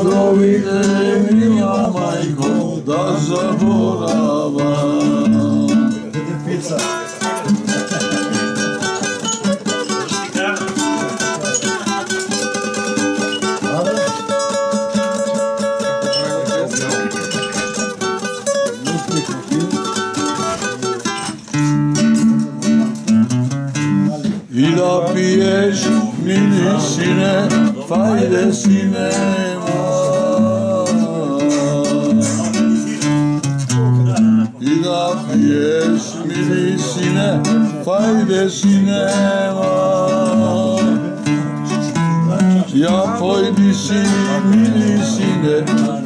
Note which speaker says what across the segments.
Speaker 1: Довиде, мила мајко, да заборавам. И да пиеш, мили сине, фајде синема. И да пиеш, мили сине, фајде синема. Ја појди си, мили сине,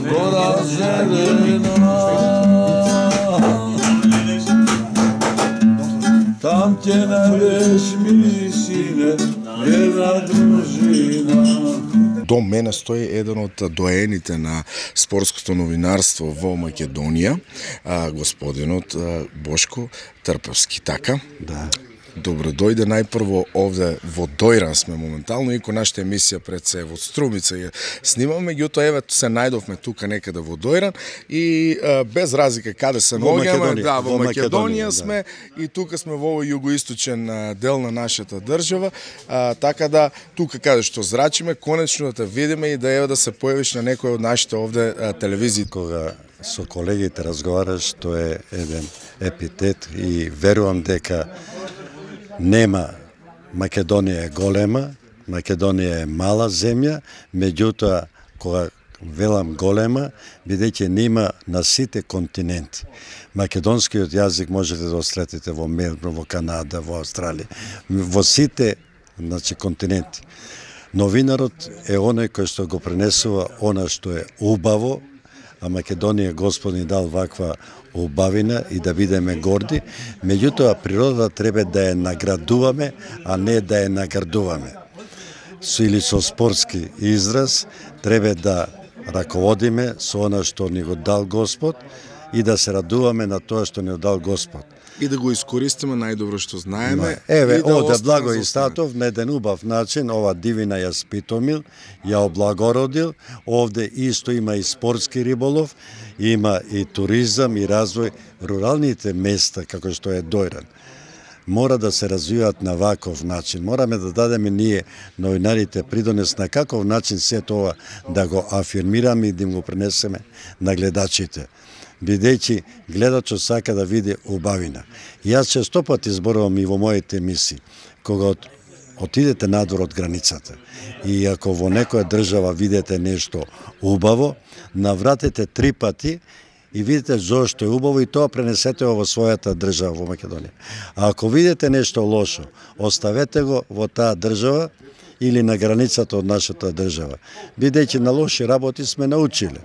Speaker 1: гора зелена. Там ќе најдеш, мили сине, една дружина.
Speaker 2: До мене стои еден од доените на спортското новинарство во Македонија, господинот Бошко Трпевски, така?
Speaker 3: Да.
Speaker 2: Добро дојде најпрво овде во Дојран сме моментално, иако нашата емисија пред се во Струмица ја снимаме, меѓутоа еве се најдовме тука некаде во Дојран и без разлика каде се наоѓаме, да, во Македонија сме и тука сме во овој југоисточен дел на нашата држава, така да тука каде што зрачиме, конечно да те видиме и да еве да се појавиш на некој од нашите овде телевизии.
Speaker 3: Кога со колегите разговараш, тоа е еден епитет и верувам дека нема, Македонија е голема, Македонија е мала земја, меѓутоа кога велам голема, бидејќи нема на сите континенти. Македонскиот јазик можете да остретите во Мелбурн, во Канада, во Австралија, во сите, значи, континенти. Новинарот е оној кој што го пренесува она што е убаво, а Македонија Господи дал ваква убавина и да бидеме горди, меѓутоа природата треба да ја наградуваме, а не да ја наградуваме. Или со спортски израз треба да раководиме со она што ни го дал Господ и да се радуваме на тоа што ни го дал Господ.
Speaker 2: И да го искористиме најдобро што знаеме.
Speaker 3: Еве, овде Благо Истатов на еден убав начин, ова дивина ја спитомил, ја облагородил, овде исто има и спортски риболов, има и туризам и развој, руралните места, како што е Дојран. Мора да се развиваат на ваков начин. Мораме да дадеме ние, новинарите, придонес на каков начин се тоа да го афирмираме и да им го пренесеме на гледачите. Бидејќи гледачот сака да види убавина. Јас често пати зборувам и во моите емисии, кога отидете надвор од границата и ако во некоја држава видите нешто убаво, навратете 3 пати и видите зошто е убаво и тоа пренесете во својата држава во Македонија. А ако видите нешто лошо, оставете го во таа држава или на границата од нашата држава. Бидејќи на лоши работи сме научиле.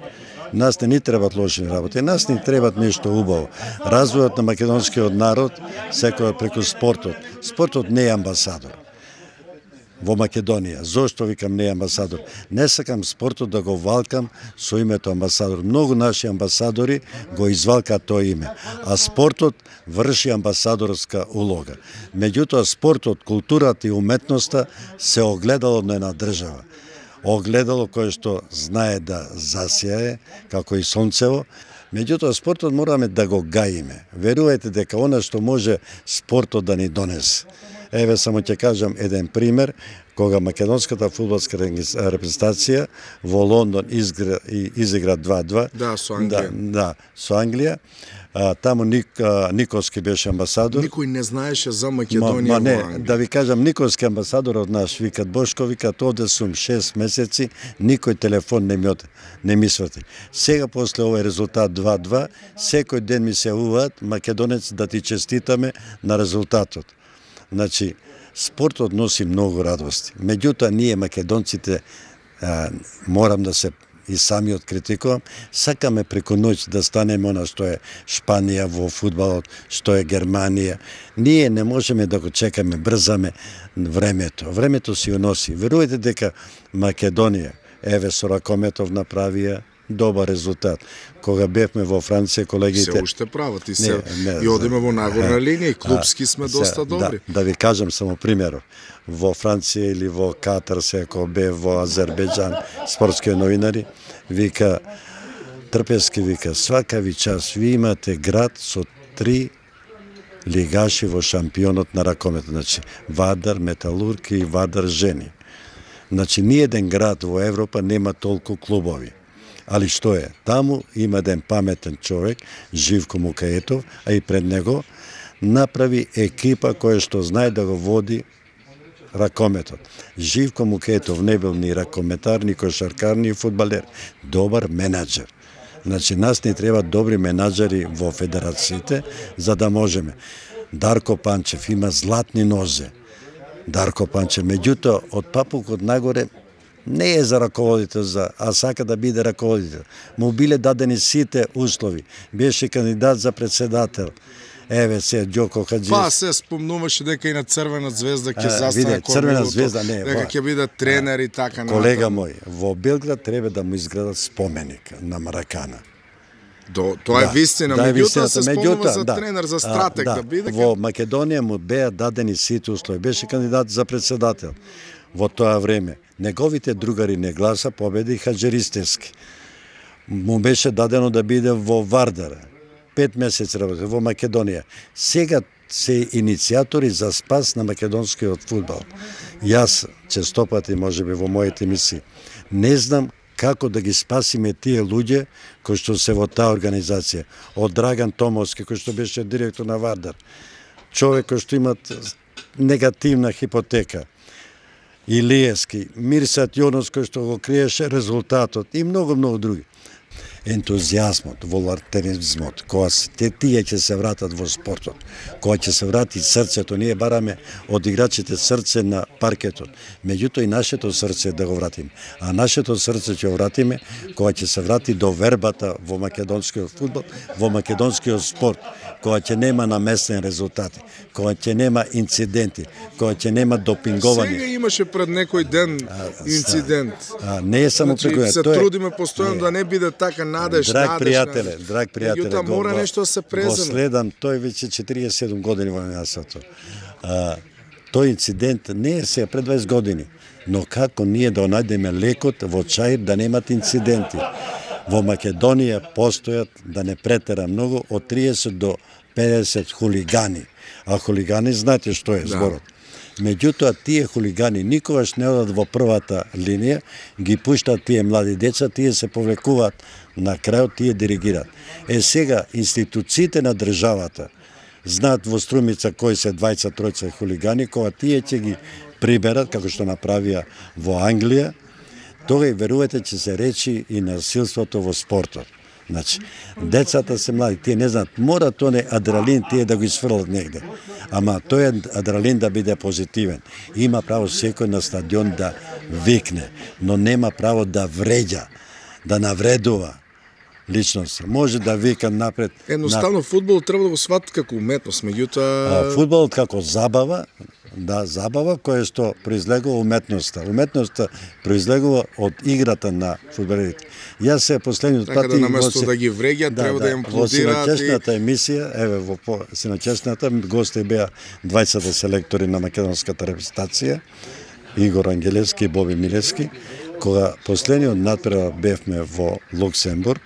Speaker 3: Нас не ни требат лоши работи, нас ни требат нешто убаво. Развојот на македонскиот народ секој преку спортот. Спортот не е амбасадор во Македонија. Зошто викам не е амбасадор? Не сакам спортот да го валкам со името амбасадор. Многу наши амбасадори го извалкаат тоа име, а спортот врши амбасадорска улога. Меѓутоа спортот, културата и уметноста се огледало на една држава. Огледало кое што знае да засјае, како и сонцево. Меѓутоа, спортот мораме да го гаиме. Верувајте дека она што може спортот да ни донесе. Еве само ќе кажам еден пример, кога македонската фудбалска репрезентација во Лондон изигра 2-2.
Speaker 2: Да, со Англија.
Speaker 3: Да, со Англија. Таму Николски беше амбасадор.
Speaker 2: Никој не знаеше за Македонија во Англија.
Speaker 3: Да ви кажам, Николски амбасадор од наш викат Бошко, викат овде сум 6 месеци, никој телефон не ми сврти. Сега после овој резултат 2-2, секој ден ми се јавуваат македонец да ти честитаме на резултатот. Значи, спортот носи многу радости. Меѓутоа, ние македонците морам да се и самиот критикувам, сакаме преку ноќ да станеме она што е Шпанија во фудбалот, што е Германија. Ние не можеме да го чекаме, брзаме времето. Времето си го носи. Верувајте дека Македонија, еве со ракометов направија добар резултат. Кога бевме во Франција, колегите...
Speaker 2: Се уште прават и одиме во нагорна линија и клубски сме доста добри.
Speaker 3: Да ви кажам само примеров. Во Франција или во Катар, ако бе во Азербејџан, спортски новинари, вика, Трпески вика, свака ви час ви имате град со 3 лигаши во шампионот на ракомет, значи Вардар, Металург и Вардар жени. Значи ниеден град во Европа нема толку клубови. Али што е? Таму има еден паметен човек, Живко Мукаетов, а и пред него направи екипа која што знае да го води ракометот. Живко Мукаетов не бил ни ракометар, ни кошаркар, ни фудбалер. Добар менаџер. Значи, нас не треба добри менаџери во федерациите, за да можеме. Дарко Панчев има златни нозе. Дарко Панчев, меѓутоа, од папукот нагоре, не е за раководител, а сака да биде раководител. Му биле дадени сите услови. Беше кандидат за председател. Еве се Ѓоко Хаџиевски.
Speaker 2: Па се спомнуваше дека и на Црвена звезда ќе застане
Speaker 3: Црвена звезда не,
Speaker 2: дека ќе биде тренер и така на.
Speaker 3: Колега мој, во Белград треба да му изградат споменик на Маракана.
Speaker 2: Тоа е вистина, меѓутоа се спомнува за тренер, за стратег да биде.
Speaker 3: Во Македонија му беа дадени сите услови. Беше кандидат за председател. Во тоа време неговите другари не гласа, победи Хаџеристевски. Му беше дадено да биде во Вардар. 5 месеци работи во Македонија. Сега се иницијатори за спас на македонскиот фудбал. Јас честопати, можеби во моите емисии, не знам како да ги спасиме тие луѓе кои што се во таа организација. Од Драган Томовски, кој што беше директор на Вардар. Човек кој што имат негативна хипотека. Илиевски, Мирсат Јонос кој што го криеше резултатот и многу други. Ентузијазмот, волонтеризмот, кога тие ќе се вратат во спортот, кога ќе се врати срцето, ние бараме од играчите срце на паркетот, меѓутоа и нашето срце да го вратиме. А нашето срце ќе го вратиме кога ќе се врати до вербата во македонскиот фудбал, во македонскиот спорт, кога ќе нема наместени резултати, кога ќе нема инциденти, кога ќе нема допинговање.
Speaker 2: Сега имаше пред некој ден инцидент.
Speaker 3: Не е само преку
Speaker 2: се трудиме постојано да не биде така.
Speaker 3: Драг пријателе,
Speaker 2: Јута мора нешто да се преземе.
Speaker 3: Го следам, тој веќе 47 години во јасото. Тој инцидент не е сега пред 20 години, но како ние да најдеме лекот во Чаир да немат инциденти. Во Македонија постојат, да не претера многу, од 30 до 50 хулигани. А хулигани знаете што е зборот. Меѓутоа, тие хулигани никогаш не одат во првата линија, ги пуштат тие млади деца, тие се повлекуваат, на крајот тие диригираат. Сега, институциите на државата знаат во Струмица кои се 20-тројца хулигани, кога тие ќе ги приберат, како што направија во Англија, тога и верувате ќе се речи и насилството во спортот. Значи, децата се млади, тие не знаат, мора тој адреналин тие да го изфрлат негде. Ама тој адреналин да биде позитивен. Има право секој на стадион да викне, но нема право да вреѓа, да навредува личност. Може да вика напред.
Speaker 2: Едноставно фудбал треба да го сватат како уметност, меѓутоа
Speaker 3: фудбалот како забава, да, забава која што произлегува уметноста. Уметноста произлегува од играта на фудбалерите. Јас се последниот пат
Speaker 2: да наместо да ги вреѓа, треба да им аплодираат.
Speaker 3: Во синочесната емисија, еве во синочесната гости беа 20 селектори на македонската репрезентација, Игор Ангелевски и Боби Милевски, кога последниот надпревар бевме во Луксембург,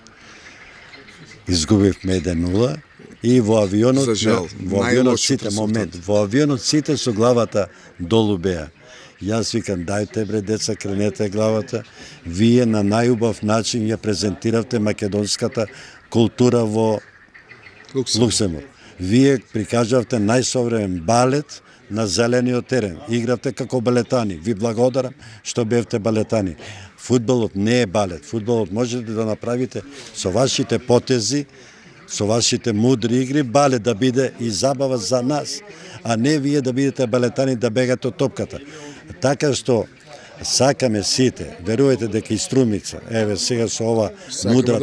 Speaker 3: изгубивме 1-0. И во авионот, во авионот сите со главата долу беа. Јас викам, дајте бре деца, кренете главата. Вие на најубав начин ја презентиравте македонската култура во Луксембург. Вие прикажавте најсовремен балет на зелениот терен. Игравте како балетани. Ви благодарам што бевте балетани. Фудбалот не е балет. Фудбалот можете да направите со вашите потези, со вашите мудри игри, балет да биде и забава за нас, а не вие да бидете балетани да бегате од топката. Така што сакаме сите, верувате дека и Струмица, еве сега со ова мудра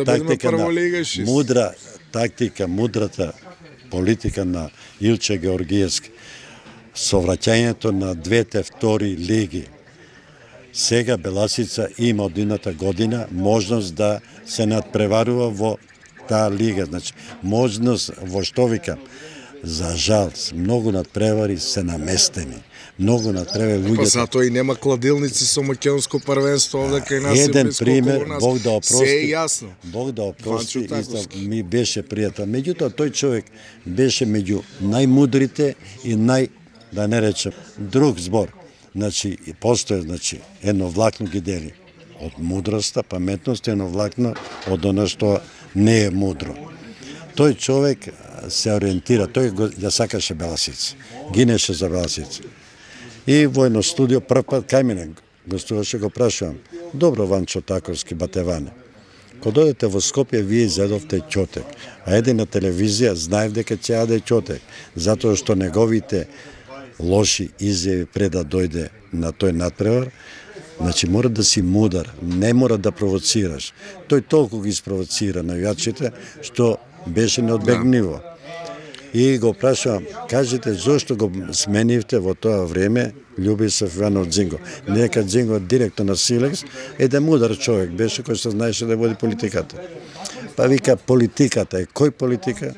Speaker 3: тактика мудрата политика на Илче Георгиевски, со враќањето на двете втори лиги, Сега Беласица има од едната година можност да се надпреварува во таа лига. Значи, можност во што викам, за жал, многу надпревари се наместени. Многу надпревари луѓето.
Speaker 2: Па затоа и нема кладилници со македонско првенство овде кај нас.
Speaker 3: Еден пример, Бог да опрости.
Speaker 2: Се е јасно.
Speaker 3: Бог да опрости, исто ми беше пријател. Меѓутоа тој човек беше меѓу најмудрите и да не речем, друг збор. Значи, постоje, значи, едно влакно ги дели од мудроста, паметност, едно влакно од оно што не е мудро. Тој човек се ориентира, тој ја сакаше Беласица, гинеше за Беласица. И во едно студио прв пат кај мене гостуваше, го прашувам: добро, Ванчо Таковски, Батеване, кога дојдете во Скопје, вие изедовте ќотек, а еде на телевизија знаев дека ќе јаде ќотек, затоа што неговите лоши изјави пред да дојде на тој надпревар. Значи, мора да си мудар, не мора да провоцираш. Тој толку ги спровоцира навијачите, што беше неодбегниво. И го прашувам: кажете, зошто го сменивте во тоа време Љубисав Иванов Џинго? Нека Џинго директор на Силекс, еден мудар човек беше кој се знаеше да води политиката. Па вика, политиката е кој политика?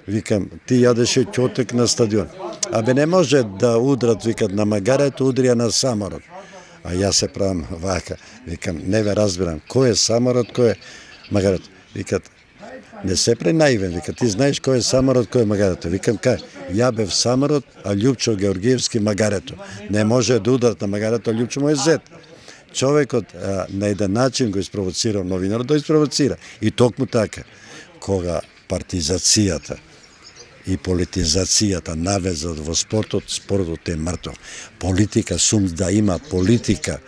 Speaker 3: Викам, ти јадеше ќотек на стадион. Абе не може да удрат, викат, на магарето, удрија на самород. А јас се правам вака. Викам, не ве разбирам, кој е самород, кој е магарето? Викат, не се пренаивен, вика, ти знаеш кој е самород, кој е магарето. Викам, кај, ја бев самород, а Љупчо Георгиевски магарето. Не може да ударат на магарето, а Љупчо му е зет. Човекот на еден начин го испровоцира новинарот, да испровоцира. И токму така, кога партизацијата и политизацијата навезат во спортот, спортот е мртов. Политика, сум да има политика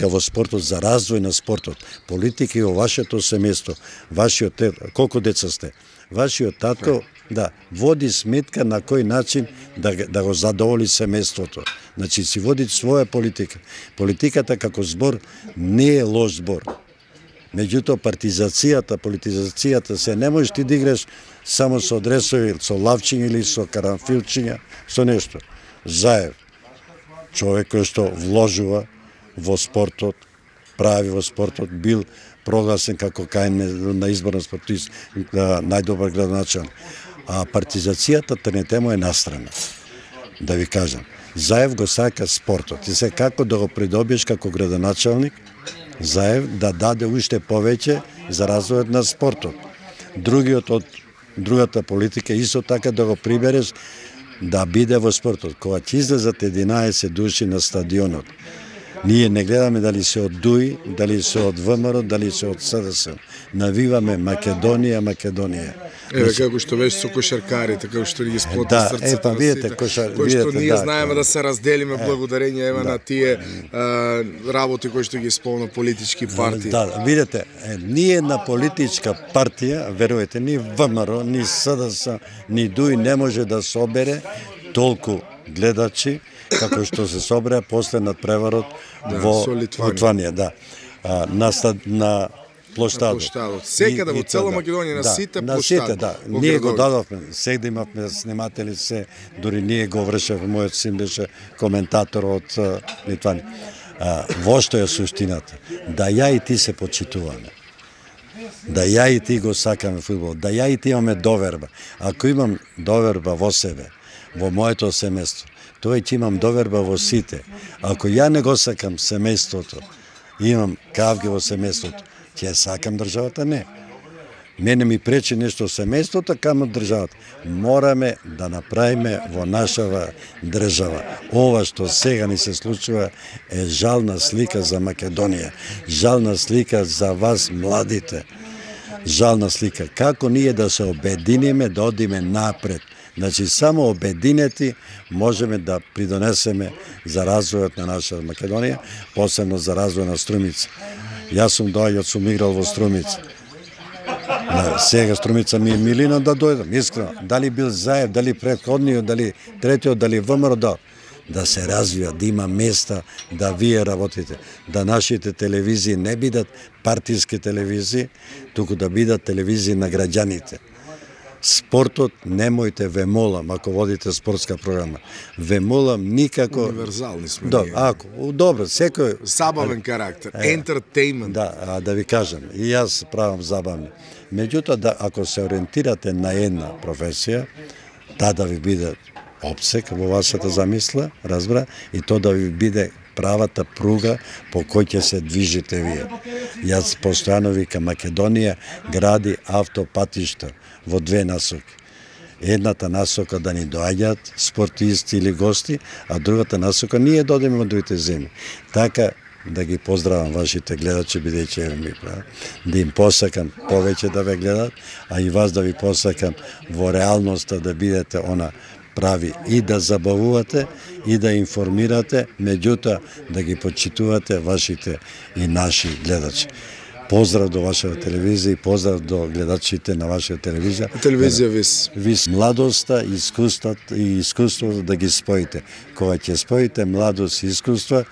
Speaker 3: во спортот, за развој на спортот, политика и во вашето семејство, вашиот колку деца сте, вашиот татко, да, води сметка на кој начин да го задоволи семејството. Значи, си води своја политика. Политиката како збор не е лош збор. Меѓутоа, партизацијата, политизацијата се не можеш ти да играш само со адресови, со лавчиња или со карамфилчиња, со нешто. Заев, човек кој што вложува во спортот, прави во спортот, бил прогласен како кај на избор на спортист, најдобар градоначалник. А партизацијата тренете му е настрана. Да ви кажам, Заев го сака спортот. И се како да го придобиеш како градоначалник, Заев да даде уште повеќе за развојот на спортот. Другиот од другата политика исто така да го прибереш да биде во спортот. Кога ќе излезат 11 души на стадионот, ние не гледаме дали се од ДУИ, дали се од ВМРО, дали се од СДС. Навиваме Македонија, Македонија.
Speaker 2: Еве како што беше со кошаркарите, како што ги сплоти срцето на
Speaker 3: видите,
Speaker 2: сите, кои што ние знаеме да се разделиме благодарение на тие работи кои што ги спомна политички партии.
Speaker 3: Да, видите, ние на политичка партија, верувате, ни ВМРО, ни СДС, ни ДУИ не може да собере толку гледачи како што се собере после надпреварот во Литванија, да. На площадот.
Speaker 2: Секаде во цела Македонија, на сите площади.
Speaker 3: Да. Ние го дадовме, сега имавме сниматели се, дури ние го вршевме, мојот син беше коментатор од Литванија. Во што е суштината? Да ја и ти се почитуваме. Да ја и ти го сакаме фудбал, да ја и ти имаме доверба. Ако имам доверба во себе, во моето семејство, тоа ќе имам доверба во сите. Ако ја не го сакам семејството, имам кавги во семејството, ќе сакам државата? Не. Мене ми пречи нешто семејството, камо државата. Мораме да направиме во нашава држава. Ова што сега ни се случува е жална слика за Македонија. Жална слика за вас, младите. Жална слика. Како ние да се обединиме, да одиме напред. Значи, само обединети можеме да придонесеме за развојот на наша Македонија, посебно за развој на Струмица. Јас сум доаѓал, сум играл во Струмица. Сега Струмица ми е милина да дојдам, искрено. Дали бил Заев, дали претходниот, дали третиот, дали ВМРО, да се развија, да има места да вие работите, да нашите телевизии не бидат партиски телевизии, туку да бидат телевизии на граѓаните. спортот немојте, ве молам, ако водите спортска програма, ве молам никако...
Speaker 2: Универзални сме
Speaker 3: Да,
Speaker 2: ние.
Speaker 3: добро, секој...
Speaker 2: Забавен карактер, entertainment.
Speaker 3: Да, да ви кажам, и јас правам забавни. Меѓутоа, ако се ориентирате на една професија, да ви биде опсек во вашата замисла, разбра, и то да ви биде правата пруга по кој ќе се движите вие. Јас постојано викам, Македонија гради автопатишта во две насоки. Едната насока да ни доаѓаат спортисти или гости, а другата насока ние додеме од другите земји. Така да ги поздравам вашите гледачи, бидејќи ми прават, да им посакам повеќе да ве гледат, а и вас да ви посакам во реалноста да бидете она прави и да забавувате и да информирате, меѓутоа да ги почитувате вашите и наши гледачи. Поздрав до вашата телевизија и поздрав до гледачите на вашата телевизија.
Speaker 2: Телевизија ВИС.
Speaker 3: ВИС. Младоста, искуството да ги споите. Кога ќе споите младост и искуство,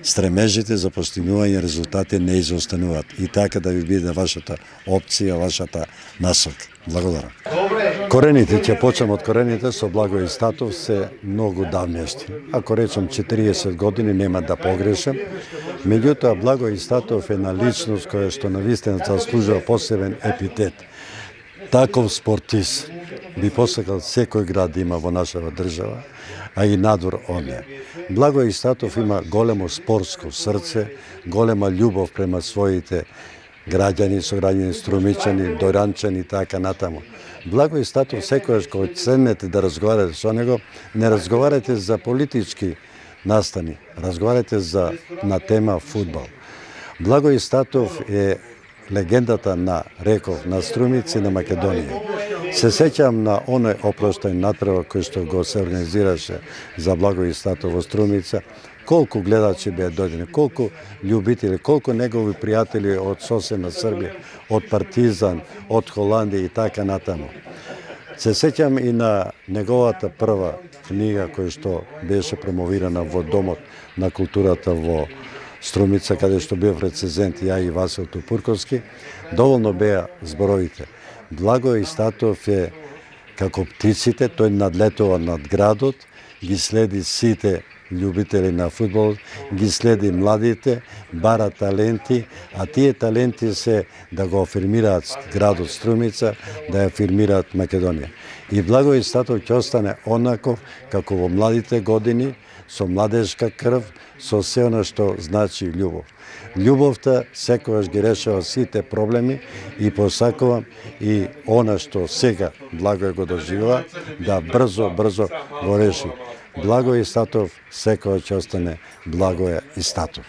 Speaker 3: стремежите за постигнување резултати не изостануваат. И така да ви биде вашата опција, вашата насока. Благодарам. Корените, ќе почнем од корените, со Благој Статов се многу давнешни. Ако речем 40 години, нема да погрешам. Меѓутоа, Благој Статов е една личност која што навистина заслужува посебен епитет. Таков спортист би посакал секој град да има во нашава држава, а и надвор од неа. Благој Статов има големо спортско срце, голема љубов према своите граѓани, сограѓани, струмичани, доранчани и така натаму. Благој Статов секојаш кога седнете да разговарате со него, не разговарате за политички настани, разговарате на тема фудбал. Благој Статов е легендата на реков, на Струмици, на Македонија. Се сеќам на оној опроштен натпревар кој што го се организираше за Благој Статов во Струмица, колку гледачи беа дојдени, колку љубители, колку негови пријатели од соседна Србија, од Партизан, од Холандија и така натаму. Се сеќам и на неговата прва книга која што беше промовирана во Домот на културата во Струмица, каде што бев рецензент ја и Васил Тупурковски, доволно беа зборовите. Благој Статов е како птиците, тој надлетува над градот, ги следи сите љубители на фудбал, ги следи младите, бара таленти, а тие таленти се да го афирмираат градот Струмица, да ја афирмираат Македонија. И Благој Статов ќе остане онаков како во младите години, со младежка крв, со се она што значи љубов. Љубовта секогаш ги решава сите проблеми и посакувам и она што сега Благој го доживува, да брзо го реши. Благој Статов секогаш ќе остане Благој Статов.